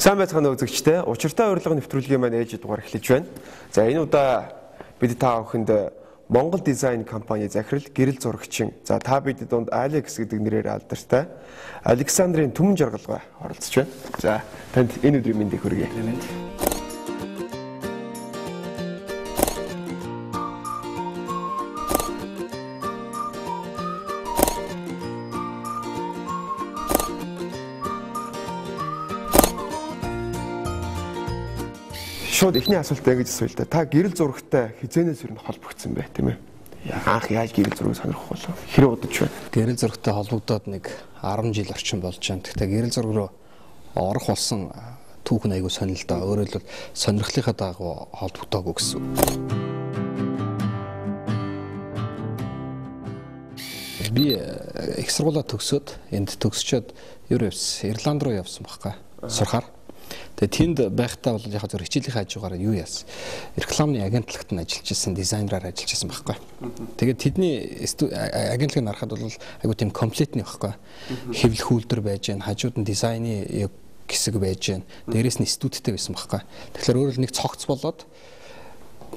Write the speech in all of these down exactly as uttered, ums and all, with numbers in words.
Сайн байцгаана үзэгчдээ. Учиртай урилга нэвтрүүлгийн маань ээлжид дугаар эхлэж байна. За энэ удаа бид та бүхэнд Монгол дизайн компани захирал гэрэл зурагчин. За та бидний дунд Алекс гэдэг нэрээр алдартай Александрийн түмэн жаргалгаа оролцож байна. За танд энэ өдрийн мэндийг хүргэе. Шууд эхний асуултаа ингэж асууя л да. Та гэрэл зурагтай хизээнээс юу холбогдсон бэ, тийм ээ? Анх яаж гэрэл зургийг сонирхох болов? Хэрэг удаж байна? Гэрэл зурагтай холбогдоод нэг арван жил орчим болж байна. Гэхдээ гэрэл зураг руу орох болсон түүхэн айгүй сонирхолтой. Өөрөөр хэлбэл сонирхлынхаа дагуу холбогдоогүй гэсэн. Би их сургуулаа төгсөөд энд төгсчөөд юу явсан? Ирланд руу явсан байхгүй сурахаар. Тэгээ тэнд байхдаа бол яг зөв хичээлийн хажуугаар юу яасан? Рекламны агентлагт нь ажиллаж исэн, дизайнераар ажиллаж исэн байхгүй. Тэгээд тэдний агентлагыг харахад бол айгу тийм комплектний байхгүй. Хэвлэх үйлдвэр байж гэн, хажууд нь дизайны хэсэг байж гэн, дээрээс нь студитэй байсан байхгүй. Тэгэхээр өөрөөр нэг цогц болоод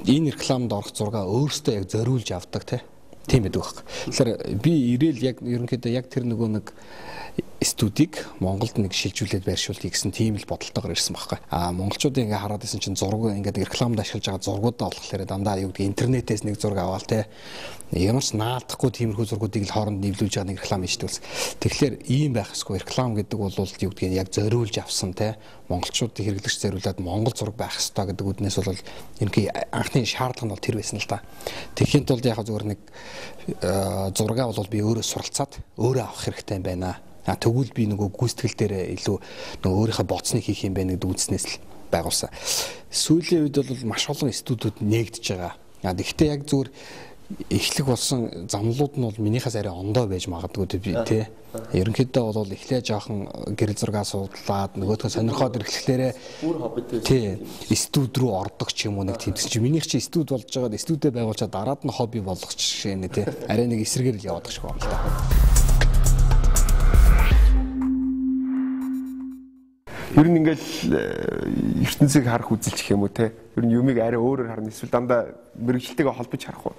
энэ рекламд орох зургаа өөрөөсөө яг зориулж авдаг тийм байдаг байхгүй. Тэгэхээр би ирээл яг ерөнхийдөө яг тэр нөгөө нэг студийг Монголд нэг шилжүүлээд байршуулъя гэсэн тийм л бодолтойгоор ирсэн байхгүй. Аа монголчуудын ингээ хараад исэн чинь зураг ингээд рекламд ашиглаж байгаа зургуудаа болохоор дандаа юу гэдэг интернетээс нэг зураг аваал те. Ямар ч наадахгүй тиймэрхүү зургуудыг л хооронд нэвлүүлж байгаа нэг реклам хийждүүлсэн. Тэгэхээр ийм байх ёсгүй. Реклам гэдэг бол юу гэдгийг яг зориулж авсан те. Монголчуудыг хэрэглэгч зориулаад монгол зураг байх ёстой гэдэг үднээс бол ерөнхий анхны шаардлага нь бол тэр байсан л та. Тэгэхэд бол яг зөвхөн нэг зургаа бол би өөрөө суралцаад өөрөө авах хэрэгтэй юм байна. А тэгвэл би нөгөө гүйцэтгэл дээр илүү нөгөө өөрийнхөө боцныг хийх юм байна гэдэг үндснээс л байгуулсан. Сүүлийн үед бол маш олон студиуд нээгдэж байгаа. А гэхдээ яг зүгээр эхлэх болсон замлууд нь бол минийхээс арай ондоо байж магадгүй би тий. Ерөнхийдөө бол эхлээ жоохон гэрэл зургаа судлаад нөгөөдхөө сонирхоод ирэхлээрээ бүр хоббитэй тий студ руу ордог ч юм уу нэг тэмцэн чи минийх чи студ болж байгаад студид байгуулчаад дараад нь хобби болгох жишээ нэ тий. Арай нэг эсрэгээр л яваад байгаа юм л та. Ер нь ингээл ертөнцийг харах үзэлч юм уу те. Ер нь юмыг арай өөрөөр харна эсвэл дандаа мэрэгжилтэйгээ холбож харах уу?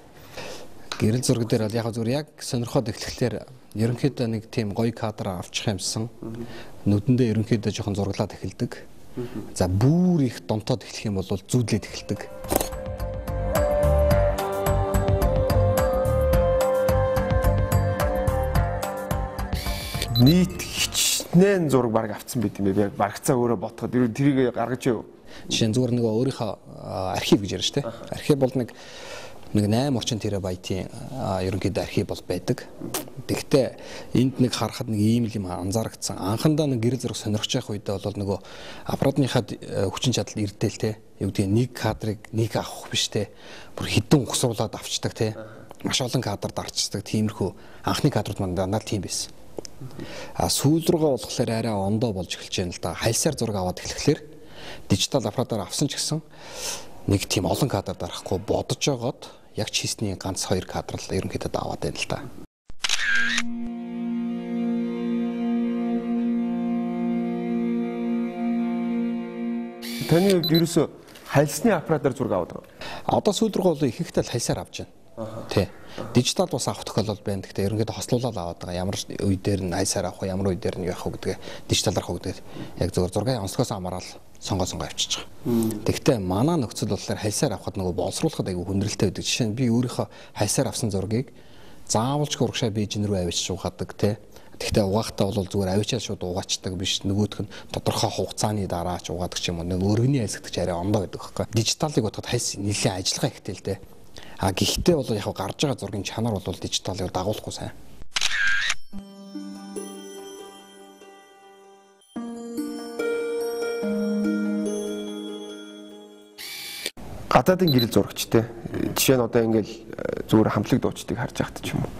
Гэрэл зураг дээр бол яг зүгээр яг сонирхоод эхлэхлээр ерөнхийдөө нэг тийм гоё кадр авчих юмсан. Нүдэндээ ерөнхийдөө жоохон зураглаад эхэлдэг. За бүр их донтоод эхлэх юм бол зүүдлээд эхэлдэг. Нийт хичнээн зураг баг авцсан байт юм бэ. Барагцаа өөрөө ботход тэрийг гаргаж яв. Жишээ нь зүгээр нөгөө өөрийнхөө архив гэж ярьж штэ. Архив бол нэг нэг найман орчим терабайтын ерөнхийдөө архив бол байдаг. Тэгэхдээ энд нэг харахад нэг ийм л юм анзаарагдсан. Анхандаа нэг гэрэл зураг сонирхож явах үедээ бол нөгөө аппаратныхаа хүчин чадал ирдэл те. Юу гэдэг нэг кадрыг нэг авах биш те. Бүр хідэн ухсруулад авчдаг те. Маш олон кадрд арчдаг. Тиймэрхүү анхны кадрууд маань дандаа тийм байсан. А сүүл рүүгээ болохоор арай ондоо болж эхэлж байна л да. Хайлсаар зураг аваад эхлэхлээр дижитал аппаратаар авсан ч гэсэн нэг тийм олон кадр дарахгүй бодож байгаад яг чистний ганц хоёр кадр л ерөнхийдөө аваад байна л да. Таны ерөөсө хайлсны аппаратаар зураг аваад байгаа. Одоо сүүл рүүгээ бол их ихтэй хайлсаар авч байна. Тий. Дижитал бас авах тохиолдол байна. Гэхдээ ерөнхийдөө хослуулаад аваад байгаа. Ямар үе дээр нь хайсаар авах, ямар үе дээр нь явах гэдэг дижиталар авах гэдэг. Яг зөвхөн зургийн онцгоос хамаарал сонгоо сонгоо авчиж байгаа. Тэгэхдээ манай нөхцөл болохоор хайсаар авахд нөгөө боловсруулахад айгүй хүндрэлтэй байдаг. Жишээ нь би өөрийнхөө хайсаар авсан зургийг заавалж урагшаа бийжин рүү авчиж угаадаг тий. Тэгэхдээ угаахтаа бол зүгээр авчиад шууд угаачдаг биш. Нөгөөх нь тодорхой хугацааны дараа ч угаадаг ч юм уу. Нэг өргөний айлсгдаг арай ондоо гэдэг байхгүй. Дижиталыг бодоход хайс нэлээд ажиллагаа ихтэй л тий. А гэхдээ бол яг гарч байгаа зургийн чанар бол дижиталыг дагуулахгүй сайн. Гадаадын гэрэл зурагчтай. Жишээ нь одоо ингээл зүгээр хамтлаг дуучдыг харж байхад ч юм уу.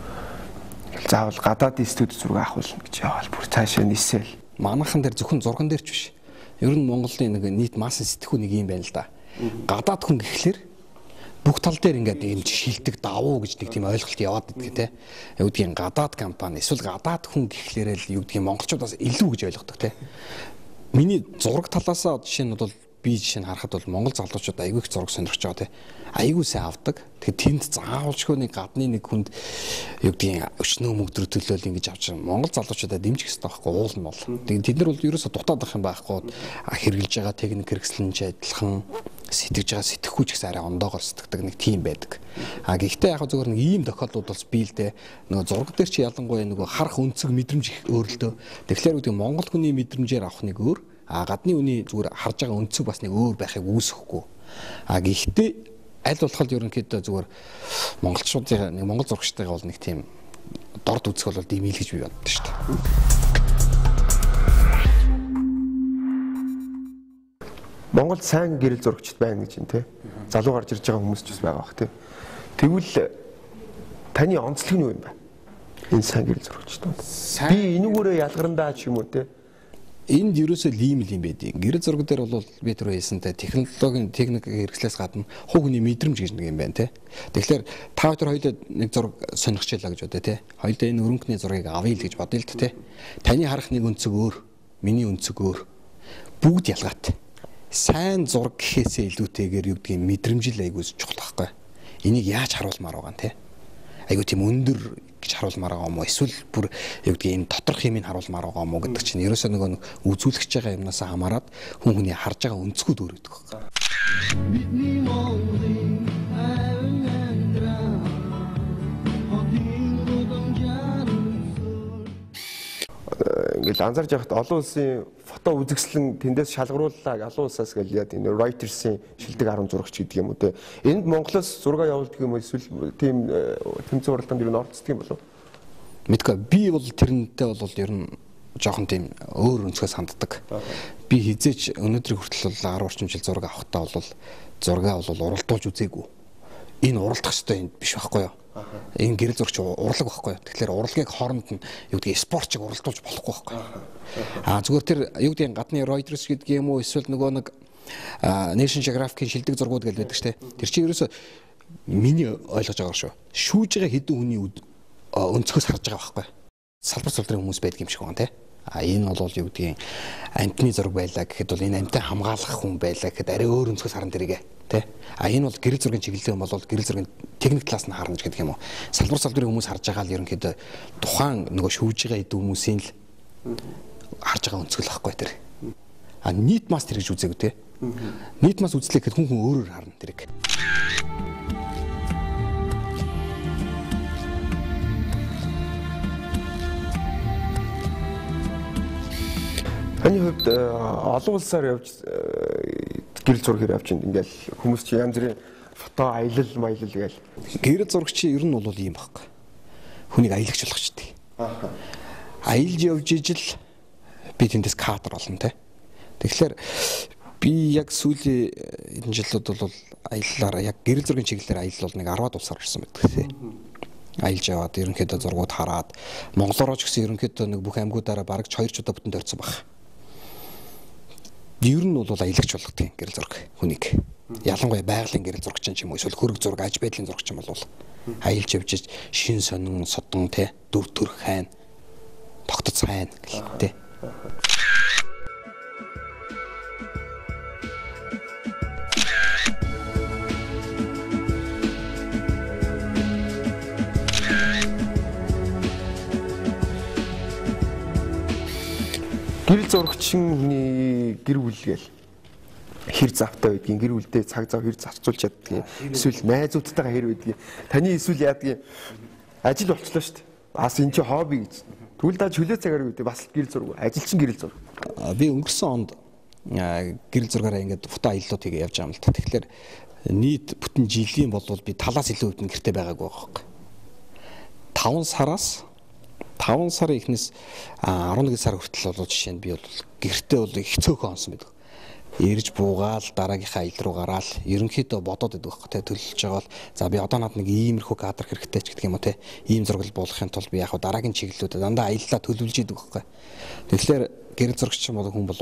Ингээл заавал гадаадын студи зураг авах болно гэж яваал бүр цаашаа нисэл. Манайхан дээр зөвхөн зурган дээр ч биш. Ер нь Монголын нэг нийт масс сэтгхүү нэг юм байна л да. Гадаад хүн гэхлээр бүх тал дээр ингээд ийм шилдэг давуу гэж нэг тийм ойлголт яваад байдаг те. Юу гэдгийг гадаад компани эсвэл гадаад хүн гэхлээрээ л юу гэдгийг монголчуудаас илүү гэж ойлгодог те. миний зураг талаасаа жишээ нь бол би жишээ нь харахад бол Монгол залуучууд айгүй их зураг сонирхож байгаа тий. Айгүй сайн авдаг. Тэгэхээр тэнд заавалчгүй нэг гадны нэг хүнд юу гэдгийг өчнөө мөгдрө төлөөл ингэж авч байгаа. Монгол залуучуудаа дэмжих хэрэгтэй байхгүй уул нь бол. Тэгээд тэд нар бол ерөөсө дутаад байх юм байхгүй. Хэрэгжилж байгаа техник хэрэгслэнч адилхан сэтгэж байгаа сэтгэхгүй ч гэсэн арай ондоогоор сэтгэдэг нэг тийм байдаг. А гэхдээ яг зөвхөн нэг ийм тохиолдлууд бол би л дээ нөгөө зураг дээр чи ялангуяа нөгөө харах өнцөг мэдрэмж их өөр л дөө. Тэгэхээр үүдээ Монгол хүний мэдрэмжээр авах нэг өөр, а гадны хүний зүгээр харж байгаа өнцөг бас нэг өөр байхыг үүсэхгүй. А гэхдээ аль болоход ерөнхийдөө зүгээр монголчуудын нэг монгол зурагчтайгаа бол нэг тийм дорд үзэх бол димэл гэж би боддог шүү дээ. Монгол сайн гэрэл зурагчд байна гэж юм те. Залуу гарч ирж байгаа хүмүүс ч бас байгаа бах те. Тэгвэл таны онцлог нь юу юм бэ? Энэ сайн гэрэл зурагчд. Би энүүгээрээ ялгарандаа ч юм уу те. Энд ерөөсөө ийм л юм байдیں۔ Гэрэл зураг дээр бол би түрүү хэлсэнтэй технологийн техник хэрэгслээс гадна хувь хүний мэдрэмж гэж нэг юм байна те. Тэгэхээр та хоёр хоёулаа нэг зураг сонирхчихлаа гэж бодъё те. Хоёулаа энэ өрөнгөний зургийг авъя л гэж бодъё л те. Таны харах нэг өнцөг өөр, миний өнцөг өөр. Бүгд ялгаатай. Сайн зураг гэхээсээ илүүтэйгээр юу гэдгийг мэдрэмжил айгуус чухал байхгүй. Энийг яаж харуулмаар байгаа юм те. Айгуу тийм өндөр гэж харуулмаар байгаа юм уу? Эсвэл бүр юу гэдгийг энэ доторх юмыг харуулмаар байгаа юм уу гэдэг чинь ерөөсөө нөгөө нэг үзүүлэгч байгаа юмнаас хамаарат хүн хүний харж байгаа өнцгүүд өөр гэдэг байхгүй. Ингээл анзаарч байхад олон улсын фото үзэсгэлэн тэндээс шалгарууллаа олон улсаас гэл яа тийм Reuters-ийн шилдэг арга зурагч гэдэг юм уу те. Энд Монголоос зураг явуулдаг юм эсвэл тийм тэмцээн уралдаанд юу н орцдог юм болов? Мэдгүй би бол тэрнтэй бол ер нь жоохон тийм өөр өнцгөөс ханддаг. Би хизээч өнөөдрийн хүртэл бол десять орчим жил зураг авахтаа бол зургаа бол уралдуулж үзээгүй. Энэ уралдах ёстой юм биш байхгүй юу? Энэ гэрэл зурагч урлаг байхгүй юу? Тэгэхээр урлагийг хооронд нь юу гэдгийг спортчиг уралдуулж болохгүй байхгүй юу? Аа зүгээр тэр юу гэдгийг гадны Reuters гэдэг юм уу эсвэл нөгөө нэг National Geographic-ийн шилдэг зургууд гэж байдаг шүү дээ. Тэр чинь ерөөсөө миний ойлгож байгаагаар шүү. Шүүж байгаа хэдэн хүний өнцгөөс харж байгаа байхгүй юу? Салбар салбарын хүмүүс байдаг юм шиг байна те. А энэ бол юу гэдгийг амтны зураг байлаа гэхэд бол энэ амтаа хамгаалах хүн байлаа гэхэд арай өөр өнцгөөс харна тэрийгэ тий. А энэ бол гэрэл зургийн чиглэлтэй юм бол гэрэл зургийн техник талаас нь харна гэдэг юм уу. Салбар салбарын хүмүүс харж байгаа л ерөнхийдөө тухайн нөгөө шүүж байгаа хэдэн хүмүүсийн л харж байгаа өнцгөл байхгүй тэр. А нийт масс тэр гэж үзээгүй тий. Нийт масс үзлээ гэхэд хүн хүн өөрөөр харна тэрийг. Таны хувьд олон улсаар явж гэрэл зураг явж ингээл хүмүүс чи янз бүрийн фото аялал маялал гээл. Гэрэл зурагч ер нь бол ийм байхгүй. Хүнийг аялагч болгочтой. Аа. Аялж явж ижил би тэндээс кадр олно те. Тэгэхээр би яг сүүлийн энэ жилүүд бол аяллаараа яг гэрэл зургийн чиглэлээр аялал бол нэг десять улсаар орсон байдаг те. Аялж яваад ерөнхийдөө зургууд хараад монголоор ч гэсэн ерөнхийдөө нэг бүх аймагуудаараа бараг хоёр ч удаа бүтэн дөрцөн баг. Ер нь бол аялагч болгодог гэрэл зураг хүнийг. Ялангуяа байгалийн гэрэл зурагч юм уу эсвэл хөрөг зураг аж байдлын зурагч юм бол аялж явж шин сонин содон те дүр төрх хайн тогтоц хайн гэлтэй. Гэрэл зурагчны гэр бүл гээл хэр завтай байдгийг гэр бүлдээ цаг зав хэр зарцуулж чаддгийг эсвэл найзуудтайгаа хэр байдгийг таны эсвэл яадгийг ажил болчлоо шүү дээ. Бас энэ чи хобби гэж. Тэгвэл даа чөлөө цагаар үүдээ бас гэрэл зураг ажилчин гэрэл зураг. Би өнгөрсөн онд гэрэл зургаараа ингээд фото аяллууд хийгээ явж байгаа юм л та. Тэгэхээр нийт бүтэн жилийн бол би талаас илүү өвдөн гэртээ байгаагүй байхгүй. таван сараас таван сарын эхнээс арван нэг сар хүртэл бол жишээ нь би бол гэртээ бол их цөөхөн онсон байдаг. Ирж буугаал дараагийнхаа аялал руу гараал ерөнхийдөө бодоод байдаг байхгүй те төлөвлөж байгаа бол за би одоо надад нэг иймэрхүү кадр хэрэгтэй ч гэдэг юм уу те ийм зураг буулгахын тулд би яг дараагийн чиглэлүүдэд дандаа аяллаа төлөвлөж идэг байхгүй. Тэгэхээр гэрэл зурагч юм бол хүн бол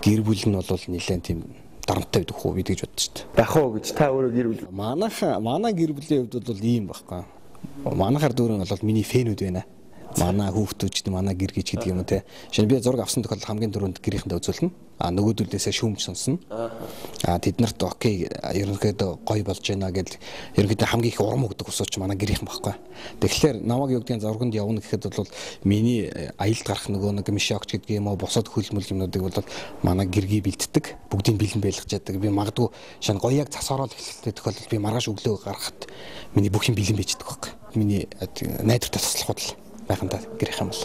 гэр бүл нь бол нэлээд тийм дарамттай байдаг хөө бид гэж боддоо шүү дээ. Бах уу гэж та өөрөө гэр бүл. Манайх манай гэр бүлийн хувьд бол ийм байхгүй. Манайхаар дүүрэн бол миний фэнүүд байна. Манай хүүхдүүд манай гэр гэж гэдэг юм уу те. Шинэ би зураг авсан тохиолдолд хамгийн дөрөнд гэрийнхэндээ үзүүлнэ. А нөгөөдөлдөөсөө шүүмж сонсно. А тэд нарт окей ерөнхийдөө гоё болж байна гэдэл ерөнхийдөө хамгийн их урам өгдөг усууч манай гэрийнхэн баггүй. Тэгэхээр намайг юу гэдгийг зурганд явна гэхэд бол миний аялд гарах нөгөө нэг мишокч гэдэг юм уу босоод хөлмөл юмнуудыг бол манай гэргий бэлддэг. Бүгдийг бэлэн байлгаж яддаг. Би магадгүй шинэ гоёг цас ороод эхлэхдээ тохиолдолд би маргааш өглөө гарахад миний бүх юм бэлэн байждаг байхгүй. Миний найдвартай туслах бодол байхандаа гэрийнхэн бол.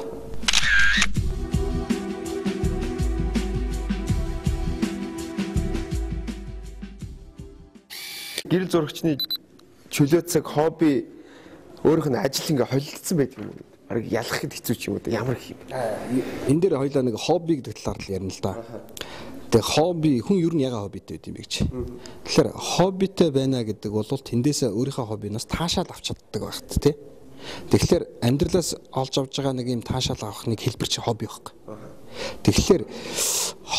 Гэрэл зурагчны чөлөө цаг хобби өөрийнх нь ажил ингээ холилдсон байдаг юм уу? Ариг ялахад хэцүү ч юм уу? Ямар их юм? Энэ дээр хоёлаа нэг хобби гэдэг талаар л ярина л да. Тэгээ хобби хүн ер нь яга хоббитэй байд юм бэ гэж. Тэгэхээр хоббитэй байна гэдэг бол тэндээсээ өөрийнхөө хоббинаас таашаал авч чаддаг багт тий. Тэгэхээр амьдралаас олж авж байгаа нэг юм таашаал авах нэг хэлбэр чи хобби байхгүй. Тэгэхээр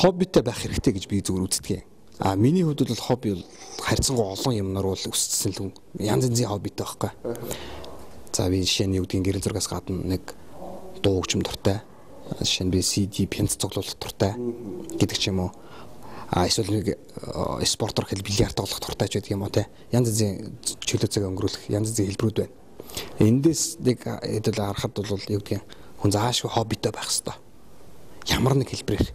хоббитэй байх хэрэгтэй гэж би зүгээр үздэг юм. А миний хувьд бол хобби бол харьцангуй олон юмнаар бол өссөн л янз янзын хоббитэй байхгүй. За би жишээ нь юу гэдгийг гэрэл зургаас гадна нэг дуу хөгжим дуртай. Жишээ нь би си ди пенц цуглуулах дуртай гэдэг ч юм уу. А эсвэл нэг спортоор хэл бильярд тоглох дуртай ч гэдэг юм уу те. Янз янзын чөлөө цаг өнгөрүүлэх янз янзын хэлбэрүүд байна. Эндээс нэг хэдэл харахад бол юу гэдгийг хүн заашгүй хоббитэй байх хэрэгтэй. Ямар нэг хэлбэрээр.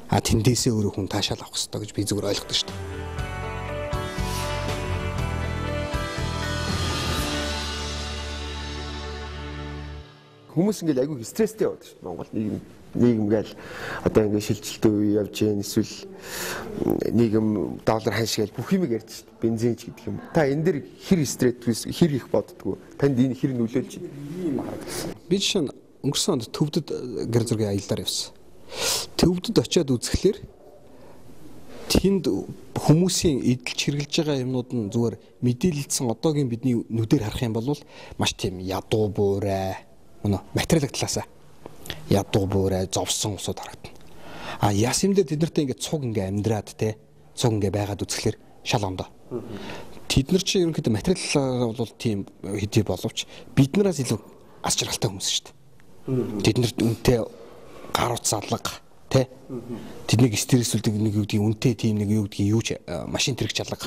А тэндээсээ өөрөө хүн таашаал авах хэрэгтэй гэж би зүгээр ойлгодог шүү дээ. Хүмүүс ингээл айгүй стресстэй яваад шүү дээ. Монгол нийгэм нийгэм гээл одоо ингээд шилжилтийн үе явж гэн эсвэл нийгэм доллар ханшгаал бүх юм ярьж шүү дээ. Бензинч гэдэг юм. Та энэ дэр хэр стресс хэр их боддгоо? Танд энэ хэр нөлөөлж байна? Би жишээ нь өнгөрсөн онд Төвдөд гэр зургийн аяллаар явсан. Төвдөд очиод үзэхлээр тэнд хүмүүсийн эдэлж хэрглэж байгаа юмнууд нь зүгээр мэдээлэлдсэн одоогийн бидний нүдээр харах юм бол маш тийм ядуу буурай өнөө материалын талаасаа ядуу буурай зовсон усуд харагдана. А яс юм дээр тэд нартай ингээд цуг ингээд амьдраад те цуг ингээд байгаад үзэхлээр шал ондоо. Тэд нар чинь ерөнхийдөө материалаа бол тийм хэдий боловч биднээс илүү аз жаргалтай хүмүүс шүү дээ. Тэд нарт үнэтэй гар утас алга тий тэднийг стресүүлдэг нэг юу гэдгийг үнэтэй тийм нэг юу гэдгийг юу ч машин тэрэг чалга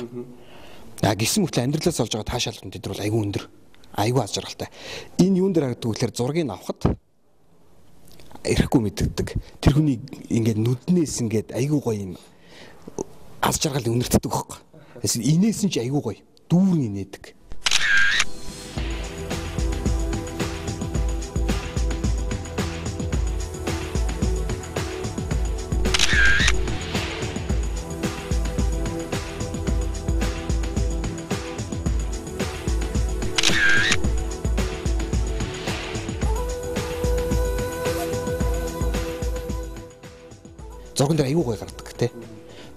а гисэн мөртлөө амьдралаас олж байгаа таашаал нь тэд нар бол айгүй өндөр айгүй аз жаргалтай энэ юун дээр харагддаг гэхээр зургийг авахд ирэхгүй мэддэг тэр хүний ингээд нүднээс ингээд айгүй гоё юм аз жаргал үнэртдэг байхгүй эсвэл инээс нь ч айгүй гоё дүүрэн инээдэг. Зурган дээр аюу гой гардаг тий.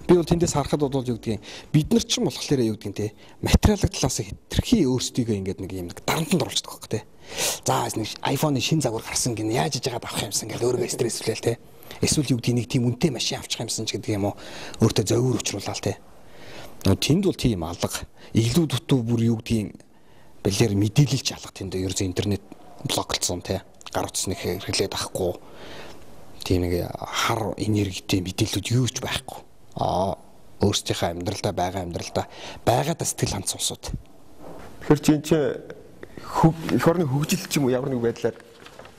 Би бол тэндээс харахад бол юу гэдгийг бид нар ч юм болохоор юу гэдгийг тий материалын талаас хэтэрхий өөрсдийгөө ингээд нэг юм нэг дарамтанд оруулдаг байхгүй тий. За нэг iPhone-ы шин загвар гарсан гин яаж иж байгаад авах юмсан гэж өөрийгөө стресслээл тий. Эсвэл юу гэдгийг нэг тийм үнэтэй машин авчих юмсан ч гэдэг юм уу өөртөө зовир өчрүүлээ тий. Тэнд бол тийм алга илүү дутуу бүр юу гэдгийг бэлэр мэдээлэлч алга тэнд ерөөс интернет блоклцсон тий. Гар утасныг хэрэглээд авахгүй тийм нэг хар энергитэй мэдээлэлүүд юу ч байхгүй. Аа өөрсдийнхөө амьдралдаа байгаа амьдралдаа байгаадаа сэтгэл хандсан усууд. Тэгэхээр чинь чи эх орны хөгжил ч юм уу ямар нэг байдлаар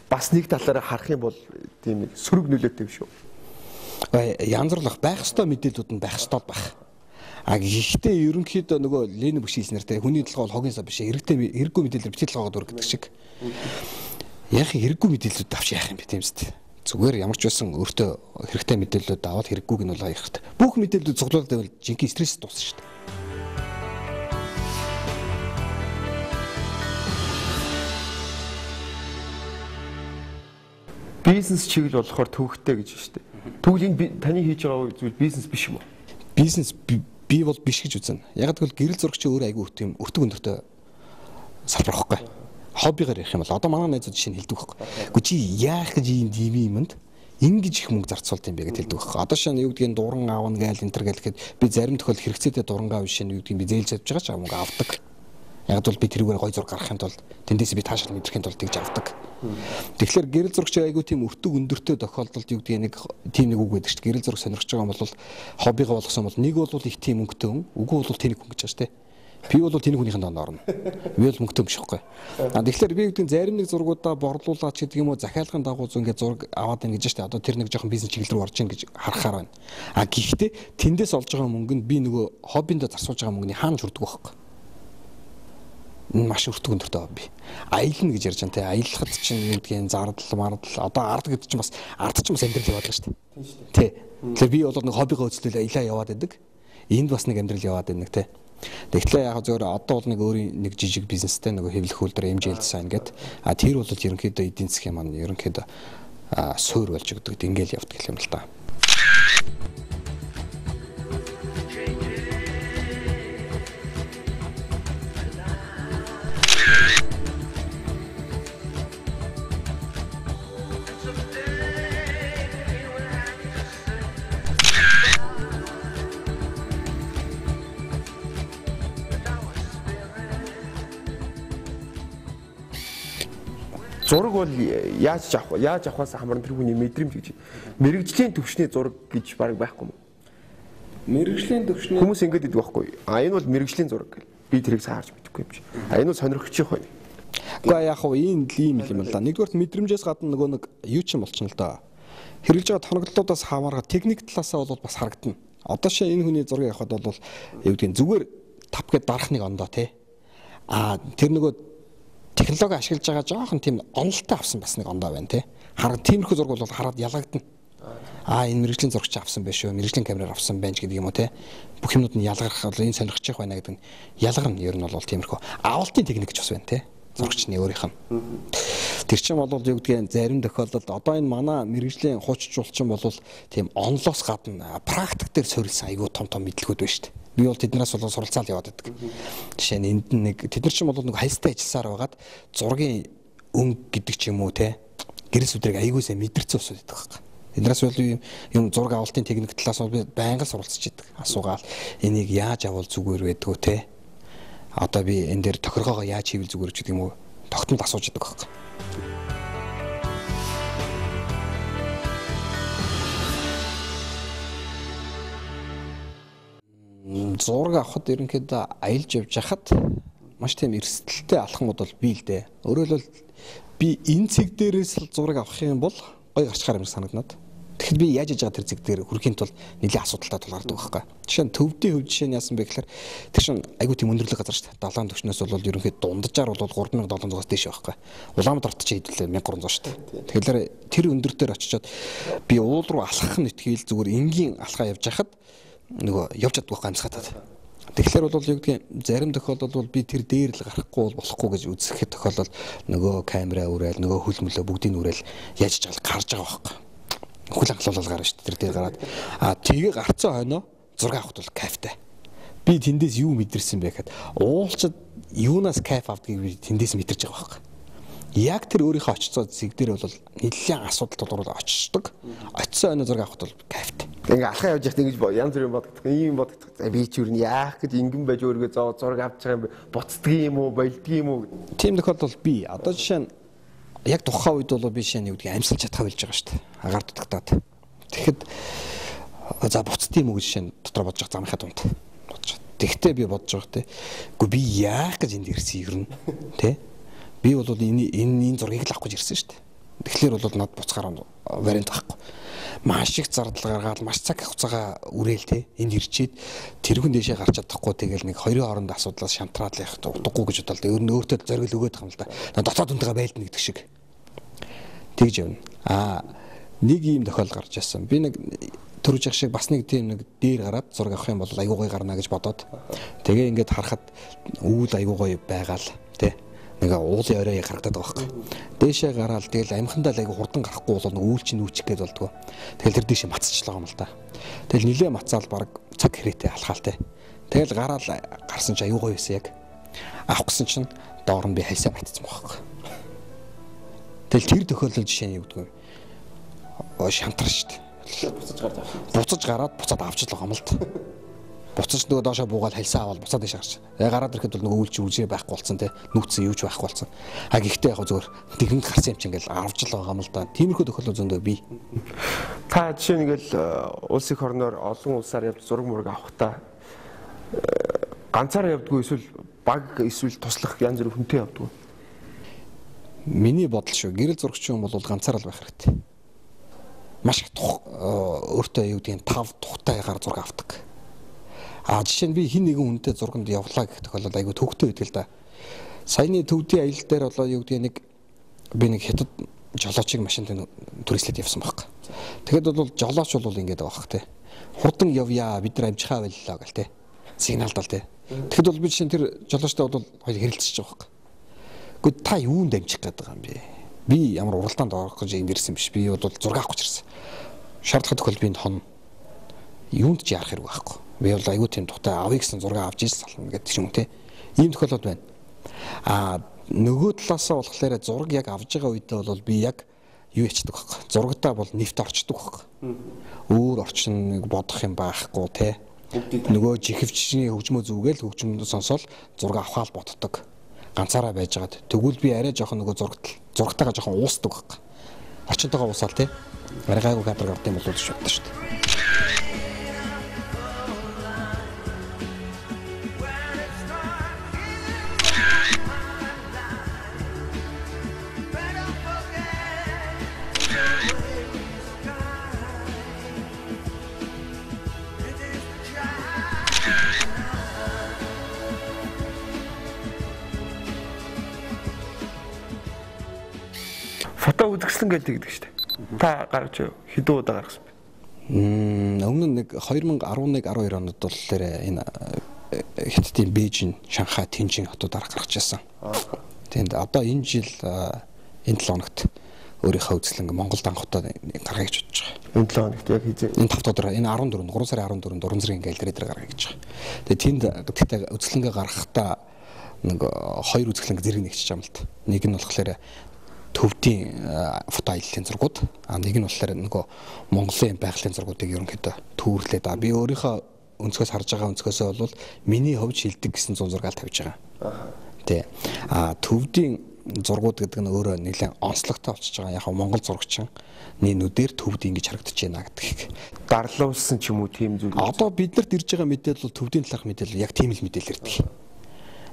бас нэг талаараа харах юм бол тийм сөрөг нөлөөтэй биш үү? Янзруулах байх ёстой мэдээлэлүүд нь байх ёстой байх. А гэхдээ ерөнхийдөө нөгөө Ленин бүшгийс нартай хүний толгой бол хогийн сав биш эрэгтэй эрэггүй мэдээлэл битгий толгойд өр гэдэг шиг. Яг хэрэггүй мэдээлэлүүд авч яах юм бэ тийм үст. Зүгээр ямар ч байсан өөртөө хэрэгтэй мэдээлэлүүд аваад хэрэггүйг нь бол хаях хэрэгтэй. Бүх мэдээлэлүүд цуглуулад байвал жинхэнэ стресс дуусна шүү дээ. Бизнес чиглэл болохоор төвөгтэй гэж байна шүү дээ. Тэгвэл энэ таны хийж байгаа зүйл бизнес биш юм уу? Бизнес би бол биш гэж үзнэ. Яг гэвэл гэрэл зурагч өөр айгүй өтөг юм өртөг өндөртэй салбар واخхой. Хоббигаар ярих юм бол одоо манай найзууд жишээ нь хэлдэг байхгүй. Гэхдээ чи яах гэж ийм див юмд ингэж их мөнгө зарцуулт юм бэ гэж хэлдэг байхгүй. Одоо шин юу гэдгийг дуран аавна гээл энтер гээл гэхэд би зарим тохиол хэрэгцээтэй дуран аав шин юу гэдгийг би зээлж авч байгаа ч мөнгө авдаг. Яг бол би тэрүүгээр гой зураг гаргахын тулд тэндээс би таашаал мэдрэхин тулд тэгж авдаг. Тэгэхээр гэрэл зурагч айгүй тийм өртөг өндөртэй тохиолдолд юу гэдэг нэг тийм нэг үг байдаг шүү дээ. Гэрэл зураг сонирхож байгаа юм бол хоббигаа болгосон бол нэг бол их тийм өнгөтэй хүн, үгүй бол тэнэг хүн гэж байна шүү дээ. Би бол тэнэг хүнийхэн доонд орно. Би бол мөнгөтэй юм шихгүй. А тэгэхээр би гэдэг зарим нэг зургуудаа борлуулаач гэдэг юм уу захиалгын дагуу зүүн ингээд зураг аваад байна гэж байна. Одоо тэр нэг жоохон бизнес чиглэл рүү орж ийн гэж харахаар байна. А гэхдээ тэндээс олж байгаа мөнгө нь би нөгөө хоббиндээ зарцуулж байгаа мөнгөний хаанч хүрдэг байхгүй. Маш өртөг өндөртэй хобби. Аялна гэж ярьж байгаа те. Аялахад чинь юу гэдгийг зардал мардал одоо ард гэдэг чинь бас ард чинь бас амьдрал яваад байгаа шүү дээ. Тий. Тэгэхээр би бол нэг хоббигоо үзлээ аялаа яваад байдаг. Энд бас нэг амьдрал яваад байдаг те. Тэгэхээр яг зөвөр одоо бол нэг өөрийн нэг жижиг бизнестэй нөгөө хэвлэх үйлдвэр эм жи эл дизайн гэдэг. А тэр бол ерөнхийдөө эдийн засгийн маань ерөнхийдөө суур болж өгдөг. Ингээл явдаг юм л та. Зураг бол яаж авах яаж авахаас хамаарна тэр хүний мэдрэмж гэж. Мэргэжлийн төвшний зураг гэж баг байхгүй юм. Мэргэжлийн төвшний хүмүүс ингэж идэг байхгүй. А энэ бол мэргэжлийн зураг гэл. Би тэрийг сайн харж мэдэхгүй юм чи. А энэ бол сонирхчих байх. Гэхдээ яг хөө энэ ийм юм л да. Нэгдүгээр мэдрэмжээс гадна нөгөө нэг юу ч юм болчихно л да. Хэрэглэж байгаа тоноглолтуудаас хамаарга техник талаасаа бол бас харагдана. Одоо шээ энэ хүний зургийг авахад бол юу гэдгийг зүгээр тав гэд дарах нэг ондоо тий. А тэр нөгөө технологи ашиглаж байгаа жоохон тийм онолтой авсан бас нэг ондоо байна тий. Хараг тиймэрхүү зураг бол хараад ялагдана. Аа энэ мэргэжлийн зурагч авсан байх шүү. Мэргэжлийн камераар авсан байж гэдэг юм уу тий. Бүх юмнууд нь ялгарх бол энэ сонирхчих байна гэдэг нь ялгарна. Ер нь бол тиймэрхүү авалтын техник гэж бас байна тий. Зурагчны өөрийнх нь. Тэр чинь бол юу гэдгийг зарим тохиолдолд одоо энэ манай мэргэжлийн хуучжуулчин бол тийм онлоос гадна практик дээр суурилсан айгүй том том мэдлэгүүд байна шүү дээ. Би бол тэднээс бол суралцаал яваад байдаг. Жишээ нь энд нэг тэд нар ч бол нэг хайстай ажилласаар байгаад зургийн өнгө гэдэг ч юм уу те гэрэл сүдрийг аягуулсаа мэдэрсэн усуд байдаг байхгүй. Эднээс бол юм зураг авалтын техник талаас бол би байнга суралцж идэг. Асуугаал энийг яаж авал зүгээр байдгүй те. Одоо би энэ дээр тохиргоогоо яаж хийвэл зүгээр ч гэдэг юм уу тогтмол асууж идэг байхгүй. Зураг авахд ерөнхийдөө аялж явж хахад маш тийм эрсдэлтэй алхмууд бол бий л дээ. Өөрөөр хэлбэл би энэ цэг дээрээс л зураг авах юм бол гой гарчхаар юм санагдаад. Тэгэхэд би яаж иж байгаа тэр цэг дээр хүрэхийн тулд нэлийн асуудалтай тулгардаг байхгүй. Жишээ нь төвдийн хөв жишээ нь яасан бэ гэхээр тэр чинь айгүй тийм өндөрлөг газар шүү дээ. Далайн түвшнээс бол ерөнхийдөө дунджаар бол гурван мянга долоон дээс дээш байхгүй. Улаанбаатарт ч хэдүүлээ мянга гурван зуун шүү дээ. Тэгэхээр тэр өндөр дээр очичоод би уул руу алхах нь итгээл зүгээр энгийн алхаа явж хахад нөгөө явж чаддгүй гамсгатаад. Тэгэхээр бол юу гэдгийг зарим тохиолдолд бол би тэр дээр л гарахгүй болохгүй гэж үзэхэд тохиолдол нөгөө камера уурал нөгөө хөлмөлөө бүгдийг уурал яаж ч гарч байгаа байхгүй. Хөл анхлуулал гарна шүү дээ тэр дээр гараад. А тгээ гарцсан хойноо зураг авахд бол кайфтай. Би тэндээс юу мэдэрсэн бэ гэхэд уулчид юунаас кайф авдгийг би тэндээс мэдэрч байгаа байхгүй. Яг тэр өөрийнхөө очицоо зэг дээр бол нэлээд асуудал тулгараад очдог. Очисон хойноо зураг авахд бол кайфтай. Ингээ алхаа явж байхад ингэж янз бүрийн бодогдох. Ийм бодогдох. За би ч юу н яах гэж ингэн байж өөргөө зоо зураг авч байгаа юм бэ? Буцдаг юм уу, болдг юм уу? Тийм тохиолдол би одоо жишээ нь яг тухайн үед бол би жишээ нь юу гэдгийг амьсгалж чадхаа билж байгаа шүү дээ. Агаар дутагдаад. Тэгэхэд за буцдаг юм уу гэж жишээ нь дотор бодож байгаа замынхаа дунд. Бодож. Тэгтээ би бодож байгаа те. Үгүй би яах гэж энд ирсэн юм те. Би бол энэ энэ зургийг л авах гэж ирсэн шүү дээ. Тэгэхээр бол над буцахаар вариант байхгүй. Маш их зардал гаргаад маш цаг хугацаагаа үрээл те энд ирчээд тэрхэн дэшээ гарч чадахгүй тэгэл нэг хоёрын хооронд асуудлаас шантраад л явах утгагүй гэж бодлоо. Өөр нь өөртөө зориг өгөөд байгаа юм л да. Дотоод үнтэйгээ байлдна гэдэг шиг. Тэгж явна. Аа нэг ийм тохиол гарч ирсэн. Би нэг төрөж явах шиг бас нэг тийм нэг дээр гараад зураг авах юм бол айгуу гоё гарна гэж бодоод тэгээ ингээд харахад өвөл айгуу гоё байгаал те нэг уулын орой харагдаад байгаа байхгүй. Дээшээ гараад тэгэл амхандаа л айгу хурдан гарахгүй бол нэг үүл чинь үүчих гээд болдгоо. Тэгэл тэр дээшээ мацчихлаа юм л да. Тэгэл нилээ мацаал баг цаг хэрээтэй алхаалтай. Тэгэл гараал гарсан чи аюу гоё байсан яг. Авах гэсэн чинь доор нь би хайсаа батцсан байхгүй. Тэгэл тэр тохиолдол жишээ нь юу гэдэг вэ? Оо шантар шүү дээ. Буцаж гараад авчих. Буцаж гараад буцаад авч л байгаа юм л да. буцаж нөгөө доошоо буугаад хальсаа аваад буцаад дэше гарч. Яг гараад ирэхэд бол нөгөө үйлч үжээ байхгүй болсон те. Нүүцсэн юуч байхгүй болсон. А гэхдээ яг зөвөр тэгнэд гарсан юм чи ингээл авч л байгаа юм л да. Тиймэрхүү тохиолдол зөндөө бий. Та жишээ нь ингээл улс их орноор олон улсаар явж зураг мураг авахтаа ганцаараа явдгүй эсвэл баг эсвэл туслах янз бүрийн хүнтэй явдгүй. Миний бодол шүү. Гэрэл зурагч юм бол ганцаараа л байх хэрэгтэй. Маш их өөртөө юу гэдэг нь тав тухтайгаар зураг авдаг. А жишээ нь би хин нэгэн хүнтэй зурганд явлаа гэх тохиолдол айгүй төвхтэй байдаг л да. Саяны төвдийн аялал дээр болоо юу гэдэг нэг би нэг хятад жолоочийг машинд түрээслээд явсан байхгүй. Тэгэхэд бол жолооч бол ингэж байгаа хэрэг те. Хурдан явъя бид нар амжихаа байлаа гэл те. Сигналдал те. Тэгэхэд бол би жишээ нь тэр жолоочтой бол хоёр хэрэлцэж байгаа байхгүй. Гэхдээ та юунд амжих гэдэг юм бэ? Би ямар уралдаанд орох гэж юм ирсэн биш. Би бол зураг авах гэж ирсэн. Шаардлага тохиол би хон юунд ч ярах хэрэг байхгүй. Би бол аюу тийм тухтай авъя гэсэн зураг авч ирсэн сална гэдэг юм те. Ийм тохиолдол байна. А нөгөө талаасаа болохоор зураг яг авж байгаа үедээ бол би яг юу ячдаг байхгүй. Зурагтаа бол нэвт орчдөг байхгүй. Өөр орчин бодох юм байхгүй те. Нөгөө жихвчний хөгжмөө зүгээл хөгжмөд сонсоод зураг авахаал боддог. Ганцаараа байжгаад тэгвэл би арай жоохон нөгөө зурагт зурагтайгаа жоохон уусдаг байхгүй. Орчинтойгоо уусаал те. Арай гайгүй кадр авт юм бол гэж боддог шүү дээ. Фото үзэсгэлэн гэж тэгдэг шүү дээ. Та гаргаж хэдэн удаа гаргасан бэ? Мм өмнө нэг две тысячи один twelve онд бол энэ Хятадын Бээжин, Шанхай, Тэнжин хотуудаар гаргаж ирсэн. Тэнд одоо энэ жил энэ долоо хоногт өөрийнхөө үзэсгэлэн Монголд анх удаа гаргая гэж бодож байгаа. Энэ долоо хоногт яг хийзээ. Энэ five өдөр энэ fourteen3 сарын fourteen Уран зэргийн галерей дээр гаргая гэж байгаа. Тэгээ тэнд гэхдээ үзэсгэлэнгээ гаргахдаа нэг хоёр үзэсгэлэн зэрэг нэгчиж байгаа юм л та. Нэг нь болохоор төвдийн фото аяллаа зургууд, а нэг нь болохоор нөгөө Монголын байгалийн зургуудыг ерөнхийдөө төвөрлээд а би өөрийнхөө өнцгөөс харж байгаа өнцгөөсөө бол миний ховж хилдэг гэсэн зун зургаал тавьж байгаа. Аа. Тэ. А төвдийн зургууд гэдэг нь өөрөө нэлээд онцлогтой болчихж байгаа. Яг Монгол зурагчны нүдээр төвд ингэж харагдаж байна гэдэг. Дарлуулсан ч юм уу тийм зүйл. Одоо биднэрт ирж байгаа мэдээлэл бол төвдийн талаарх мэдээлэл яг тийм л мэдээлэл ирдэг.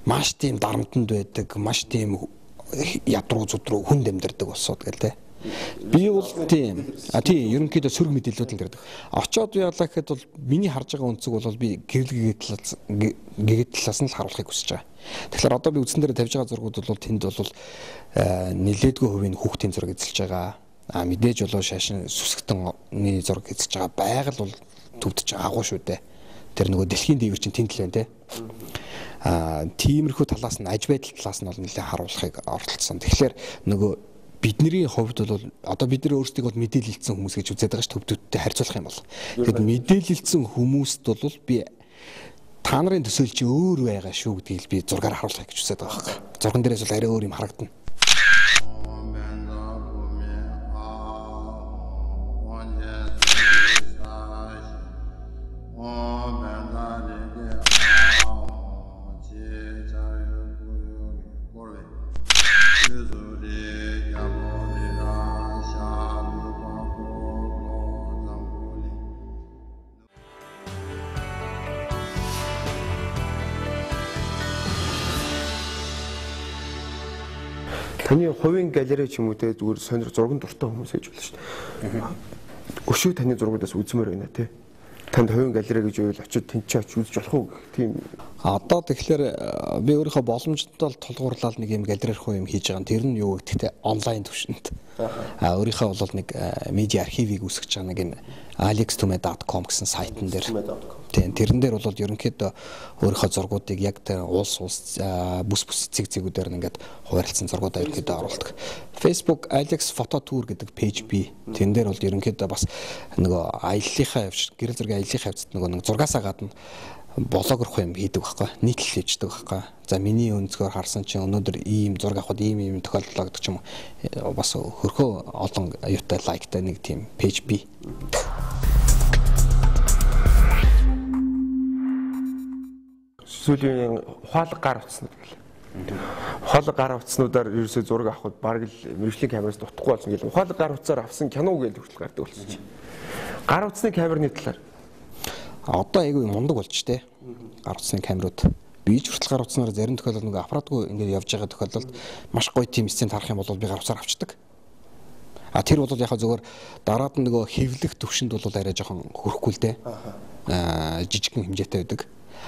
Маш тийм дарамтанд байдаг, маш тийм ядруу зүдрүү хүнд амьдардаг болсоод гэл тэ. Би бол тийм а тийм ерөнхийдөө сөрөг мэдээлэлүүд л ирдэг. Очоод яалаа гэхэд бол миний харж байгаа өнцөг бол би гэрэл гэгээд гэгээд талаас нь л харуулахыг хүсэж байгаа. Тэгэхээр одоо би үдсэн дээр тавьж байгаа зургууд бол тэнд бол нилээдгүй хувийн хүүхдийн зураг эзэлж байгаа. А мэдээж болоо шашин сүсгтэнний зураг эзэлж байгаа байгаль бол төвдөж агуу шүү дээ. Тэр нөгөө дэлхийн дээвэр чинь тэнд л байна те. А тиймэрхүү талаас нь аж байдал талаас нь бол нэлээд харуулахыг оролцсон. Тэгэхээр нөгөө бидний хувьд бол одоо бид нар өөрсдийг бол мэдээлэлцсэн хүмүүс гэж үзээд байгаа ш төвдөлтөд харьцуулах юм бол. Тэгэхэд мэдээлэлцсэн хүмүүст бол би та нарын төсөөл чи өөр байгаа шүү гэдгийг би зургаар харуулахыг гэж үзээд байгаа хэрэг. Зурган дээрээс бол арай өөр юм харагдана. Таны хувийн галерей ч юм уу те зүгээр сонир зурган дуртай хүмүүс гэж болно шүү дээ. Өшөө таны зургуудаас үзмээр байна те. Танд хувийн галерей гэж үйл очиод тэнцээ очиж үзэж болох уу гэх тийм. Одоо тэгэхээр би өөрийнхөө боломжтой тулгуурлал нэг юм галерей руу юм хийж байгаа. Тэр нь юу гэхтээ онлайн төвшөнд. А өөрийнхөө бол нэг медиа архивыг үүсгэж байгаа нэг юм alex tume dot com гэсэн сайтн дээр. Тийм тэрэн дээр бол ерөнхийдөө өөрийнхөө зургуудыг яг тэр улс улс бүс бүс цэг цэгүүдээр ингээд хуваарлцсан зургуудаа ерөнхийдөө оруулдаг. Facebook Alex Photo Tour гэдэг пэйж бий. Тэн дээр бол ерөнхийдөө бас нөгөө аяллахаа явж гэрэл зургийн аяллахаа явцад нөгөө нэг зургаасаа гадна блогер юм хийдэг байхгүй нийтлэл хийдэг байхгүй. За миний өнцгөр харсан чинь өнөөдөр ийм зураг авахд ийм ийм тохиолдлоо гэдэг ч юм уу бас хөрхөө олон аюутай лайктай нэг тийм пэйж бий. сүүлийн ухаалаг гар утаснууд гэл. Ухаалаг гар утаснуудаар ерөөсөө зураг авахд бараг л мэрэгжлийн камераас дутахгүй болсон гэл. Ухаалаг гар утсаар авсан кино гэж хүртэл гардаг болсон чи. Гар утасны камерны талаар одоо айгүй мундаг болж штэ. Гар утасны камерууд. Би ч хүртэл гар утаснаар зарим тохиолдолд нэг аппаратгүй ингээд явж байгаа тохиолдолд маш гоё тийм сцен тарах юм бол би гар утсаар авчдаг. А тэр бол яг зөвөр дараад нь нөгөө хэвлэх төвшөнд бол арай жоохон хөрөхгүй л дээ. Аа жижигхэн хэмжээтэй байдаг.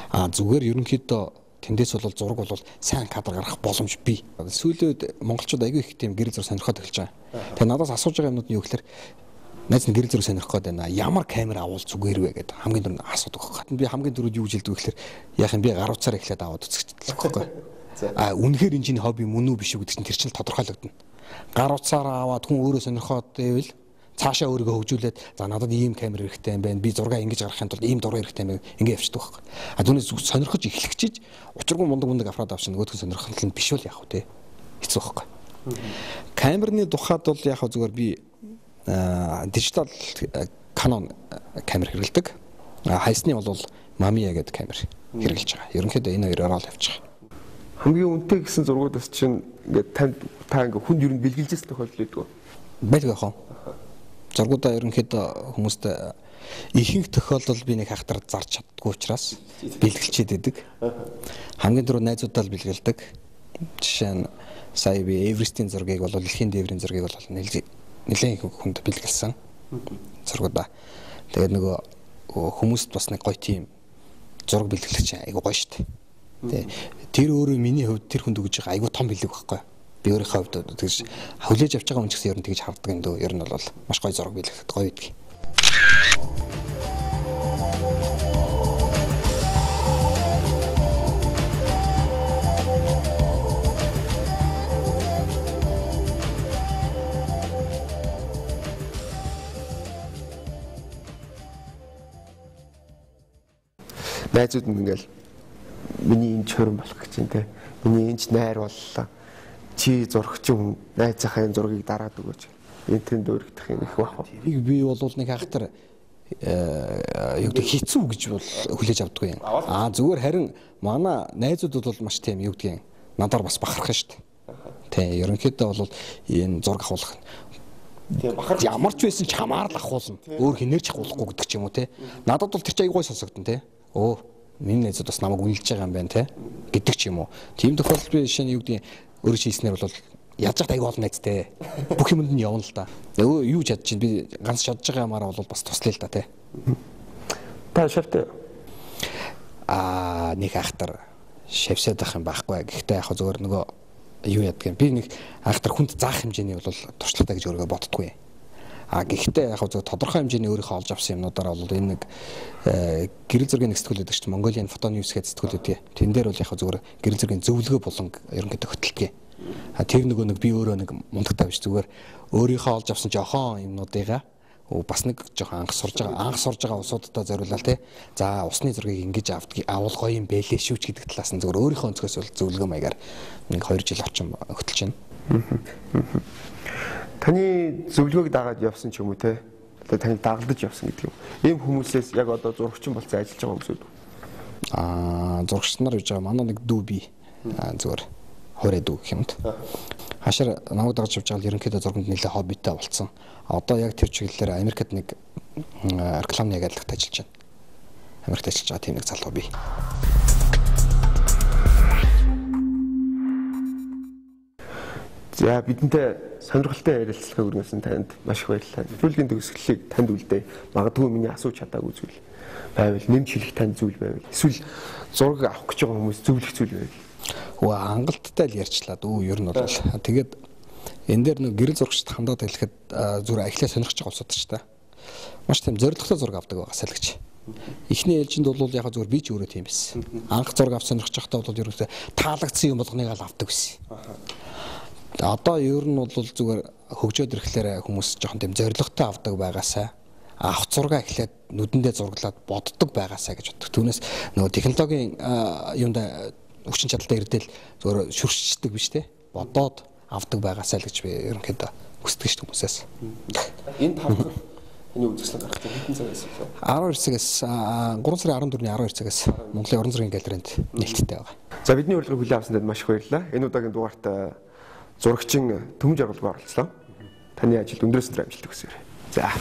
А зүгээр ерөнхийдөө тэндээс бол зураг бол сайн кадр гаргах боломж бий. Сүүлийн үед монголчууд айгүй их тийм гэрэл зураг сонирхоод эхэлж байгаа. Тэгээ надаас асууж байгаа юмнууд нь юу гэхээр найз нь гэрэл зураг сонирхох гээд байна. Ямар камер авал зүгээр вэ гэдэг хамгийн дөрөв асуудаг байхгүй. Би хамгийн дөрөв юу гэж хэлдэг вэ гэхээр яах юм би гар утсаар эхлээд аваад үзчихдэг байхгүй. А үнэхээр энэ чинь хобби мөн үү биш үү гэдэг чинь тэр чинь тодорхойлогдно. Гар утсаараа аваад хүн өөрөө сонирхоод байвал цаашаа өөрийгөө хөгжүүлээд за надад ийм камер хэрэгтэй юм байна. Би зураг ингэж гаргахын тулд ийм дураг хэрэгтэй юм байна. Ингээ явчихдаг байхгүй. А түүнээс сонирхож эхлэгчиж учиргүй мундаг мундаг аппарат авчихна. Нөгөөдгөө сонирхол нь биш бол яах вэ? Хэцүү байхгүй. Камерны тухайд бол яах вэ зүгээр би дижитал Canon камер хэрэглэдэг. Хайсны бол Mamiya гэдэг камер хэрэглэж байгаа. Ерөнхийдөө энэ хоёроор л явж байгаа. Хамгийн үнэтэй гэсэн зургуудаас чинь ингээд танд та ингээд хүнд ер нь бэлгэлжсэн тохиолдол байдаг. Байдаг яах вэ? Зургуудаа ерөнхийдөө хүмүүст ихэнх тохиолдолд би нэг хахтар зарж чаддгүй учраас бэлгэлчээд байдаг. Хамгийн түрүү найзуудаа л бэлгэлдэг. Жишээ нь сая би Эверестийн зургийг бол дэлхийн дээврийн зургийг бол нэлээд их хүнд бэлгэлсэн. Зургуудаа. Тэгээд нөгөө хүмүүст бас нэг гоё тийм зураг бэлгэлч айгу гоё шүү дээ. Тэр өөрөө миний хувьд тэр хүнд өгж байгаа айгу том бэлэг байхгүй. Би өөрийнхөө хувьд тэгж хавлаж авч байгаа хүн ч гэсэн ер нь тэгж харддаг юм дөө. Ер нь бол маш гоё зураг бэлгэхэд гоё байдаг. Найзууд нь ингээл миний энэ чорон болох гэж юм те. Миний энэ ч найр боллоо. Чи зурагч хүн найзынхаа энэ зургийг дараад өгөөч. Энэ тэнд өргөдөх юм их бах. Би бол нэг хахтар юу гэдэг хэцүү гэж бол хүлээж авдаггүй юм. Аа зүгээр харин манай найзууд бол маш тийм юу гэдгийг надаар бас бахархан шүү дээ. Тэ ерөнхийдөө бол энэ зураг авах тийм бахар ямар ч байсан ч хамаар л ахуулна. Өөр хинээрч ахуулахгүй гэдэг ч юм уу те. Надад бол тэр чинь аягүй сонсогдсон те. Оо миний найзууд бас намайг үнэлж байгаа юм байна те гэдэг ч юм уу. Тийм тохиолдолд би жишээ нь юу гэдэг өөрөө хийснээр бол яаж ч аягүй олон найзтай. Бүх юмд нь явна л да. Өө юу ч чадчих би ганц чадж байгаа юмараа бол бас туслая л да те. Та шавтай. Аа нэг ахтар шавсаад байх юм байхгүй. Гэхдээ яг зөвөр нөгөө юу яддаг юм. Би нэг ахтар хүнд заах хэмжээний бол туршлагатай гэж өөрийгөө боддоггүй. А гэхдээ яг зөв тодорхой хэмжээний өөрийнхөө олж авсан юмнуудаараа бол энэ нэг гэрэл зургийн нэг сэтгүүл гэдэг чинь Mongolian Photo News гэдэг сэтгүүл үү. Тэн дээр бол яг зөвөр гэрэл зургийн зөвлөгөө болон ерөнхийдөө хөтэлдэг. А тэр нөгөө нэг би өөрөө нэг мундагтай биш зүгээр өөрийнхөө олж авсан жоохон юмнуудыгаа бас нэг жоохон анх сурж байгаа анх сурж байгаа усуудтай зориулаад те. За усны зургийг ингэж авдаг авал гоё юм бэлээ шүүч гэдэг талаас нь зөвөр өөрийнхөө өнцгөөс бол зөвлөгөө маягаар нэг хоёр жил орчим хөтэлж байна. Таны зөвлөгөөг дагаад явсан ч юм уу те. Одоо таны дагалдаж явсан гэдэг юм. Ийм хүмүүсээс яг одоо зурагчин болцсон ажиллаж байгаа хүмүүсүүд. Аа зурагч нар гэж байгаа манай нэг дүү би. Аа зүгээр хорой дүү гэх юмд. Хашаар намайг дагаж явж байгаа ерөнхийдөө зурганд нэлээд хоббитай болцсон. Одоо яг тэр чиглэлээр Америкт нэг рекламны агентлагт ажиллаж байна. Америкт ажиллаж байгаа тийм нэг залуу би. За бидэнтэй сонирхолтой ярилцлага өргөсөн танд маш их баярлалаа. Нэвтрүүлгийн төгсгөлийг танд үлдээ. Магадгүй миний асууж чадаагүй зүйл байвал нэмж хэлэх танд зүйл байвал эсвэл зураг авах гэж байгаа хүмүүс зөвлөх зүйл байвал. Оо хангалттай л ярьчлаа дүү ер нь бол. Тэгээд энэ дээр нэг гэрэл зурагчд хандаад хэлэхэд зүгээр ахлаа сонирхож байгаа улсууд ч та. Маш тийм зоригтой зураг авдаг байгаа салгич. Эхний ээлжинд бол яг зүгээр би ч өөрөө тийм байсан. Анх зураг авах сонирхож байхдаа бол ерөөсөө таалагдсан юм болгоныг л авдаг байсан. Одоо ер нь бол зүгээр хөгжөөд ирэхлээр хүмүүс жоохон тийм зоригтой авдаг байгаасаа авах зураг эхлээд нүдэндээ зурглаад боддог байгаасаа гэж боддог. Түүнээс нөгөө технологийн юунда хүчин чадалтай ирдэл зүгээр шүршчихдэг биш те. Бодоод авдаг байгаасаа л гэж би ерөнхийдөө хүсдэг шүү хүмүүсээс. Энэ тавхан Эний үзэсгэлэн гаргах хэдэн цагаас вэ? арван хоёр цагаас гурван сарын арван дөрөвний арван хоёр цагаас Монголын уран зургийн галерейнд нээлттэй байгаа. За бидний урилгыг хүлээн авсанд маш их баярлалаа. Энэ удаагийн дугаарт зурагчин Төмөн жаргалгүй оролцлоо. Таны ажилд өндрөөс өндөр амжилт хүсье. За.